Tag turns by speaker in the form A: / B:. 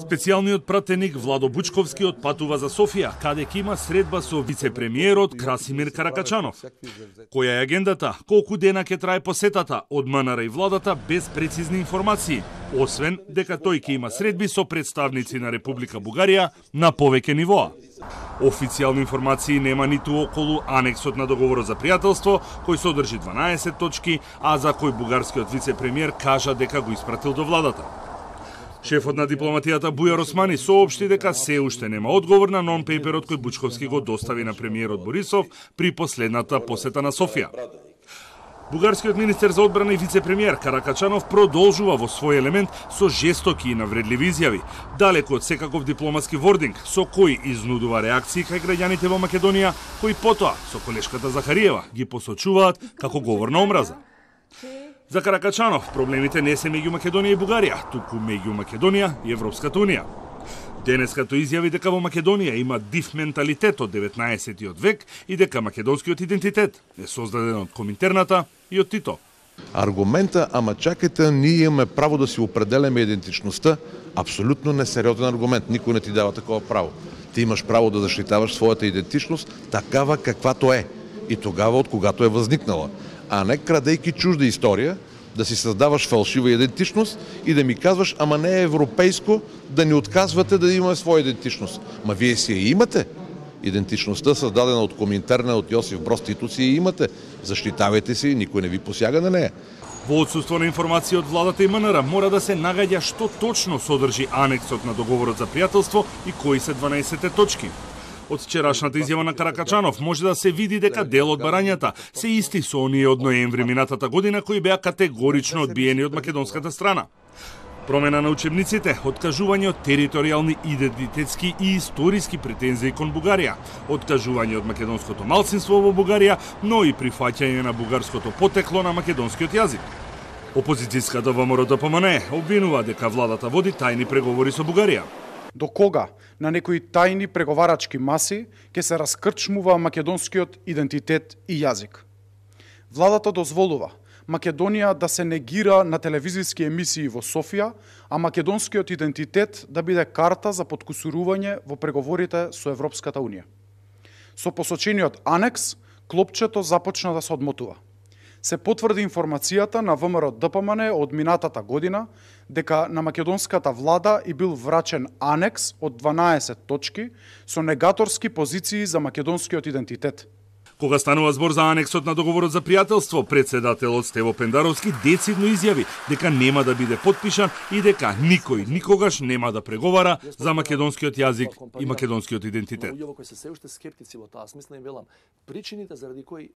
A: Специјалниот пратеник Владо Бучковски отпатува за Софија, каде ќе има средба со вице-премиерот Красимир Каракачанов. Која е агендата, колку дена ќе трае посетата, од МНР и владата без прецизни информации, освен дека тој ќе има средби со представници на Република Бугарија на повеќе нивоа. Официјални информации нема ниту околу анексот на договорот за пријателство, кој содржи 12 точки, а за кој бугарскиот вице-премиер кажа дека го испратил до владата. Шефот на дипломатијата Бујар Османи соопшти дека се уште нема одговор на нон-пейперот кој Бучковски го достави на премиерот Борисов при последната посета на Софија. Бугарскиот министер за одбрана и вице-премиер Каракачанов продолжува во свој елемент со жестоки и навредливи изјави, далеку од секаков дипломатски вординг, со кој изнудува реакции кај граѓаните во Македонија, кои потоа со колешката Захариева ги посочуваат како говор на омраза. За Каракачанов проблемите не се меѓу Македонија и Бугарија, туку меѓу Македонија и Европската унија. Денеска тој изјави дека во Македонија има див менталитет од 19-тиот век и дека македонскиот идентитет е создаден од Коминтерната и од Тито.
B: Аргумента, ама чакайте, ние имаме право да си определяме идентичноста, апсолутно несериозен аргумент. Никој не ти дава такова право. Ти имаш право да заштитаваш својата идентичност такава каквато е и тогава од когато е возникнала, а не крадејќи чужда историја, да си создаваш фалшива идентичност и да ми казваш, ама не е европейско да ни отказвате да имаме своја идентичност. Ма вие си ја имате. Идентичноста создадена од Коминтерна, од Јосиф Броз Тито си ја имате. Заштитавајте се и никој не ви посјага на неја.
A: Во отсуство на информации од владата и МНР мора да се нагаѓа што точно содржи анексот на договорот за пријателство и кои се 12 точки. Од вчерашната изјава на Каракачанов може да се види дека дел од барањата се исти со оние од ноември минатата година кои беа категорично одбиени од македонската страна. Промена на учебниците, откажување од територијални идентитетски и историски претензии кон Бугарија, откажување од македонското малцинство во Бугарија, но и прифаќање на бугарското потекло на македонскиот јазик. Опозицијската ВМРО-ДПМНЕ обвинува дека владата води тајни преговори со Бугарија.
C: До кога на некои тајни преговарачки маси ќе се раскрчмува македонскиот идентитет и јазик? Владата дозволува Македонија да се негира на телевизиски емисии во Софија, а македонскиот идентитет да биде карта за подкусурување во преговорите со Европската унија. Со посочениот анекс, клопчето започна да се одмотува. Се потврди информацијата на ВМРО-ДПМНЕ од минатата година дека на македонската влада и бил врачен анекс од 12 точки со негаторски позиции за македонскиот идентитет.
A: Кога станува збор за анексот на договорот за пријателство, председателот Стево Пендаровски децидно изјави дека нема да биде потпишан и дека никој никогаш нема да преговара за македонскиот јазик и македонскиот идентитет.
D: Луѓе кои се уште скептици во таа смисла им велам, причините заради кои